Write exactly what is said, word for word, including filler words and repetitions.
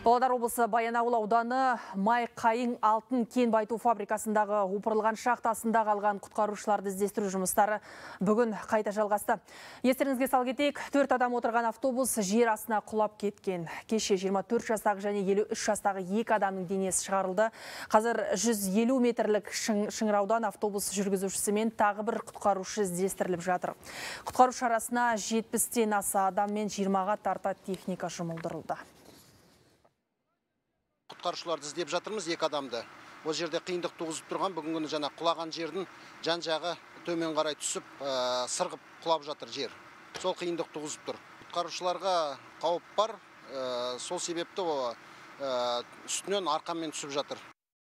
Павлодар облысы Баянауыл ауданы Май Қайың алтын кен байыту фабрикасындағы опырылған шахтасында қалған құтқарушыларды іздестіру жұмыстары бүгін қайта жалғасты. Естеріңізге сал кетейік, төрт адам отырған автобус жер астына құлап кеткен. Кеше жиырма төрт жастағы және елу үш жастағы екі адамның денесі шығарылды. Қазір жүз елу метрлік шыңыраудан автобус жүргізушісі мен тағы бір құтқарушы іздестіріліп жатыр. Құтқару шарасына жетпістен аса адам мен жиырмаға тарта техника жұмылдырылды. Құтқарушыларды іздеп жатырмыз, екі адамды. Ол жерде қиындық туғызып тұрған, бүгінгі күні жаңа құлаған жердің жан жағы төмен қарай түсіп, сырғып құлап жатыр жер. Сол қиындық туғызып тұр. Құтқарушыларға қауіп бар, сол себепті үстінен арқанмен түсіп жатыр.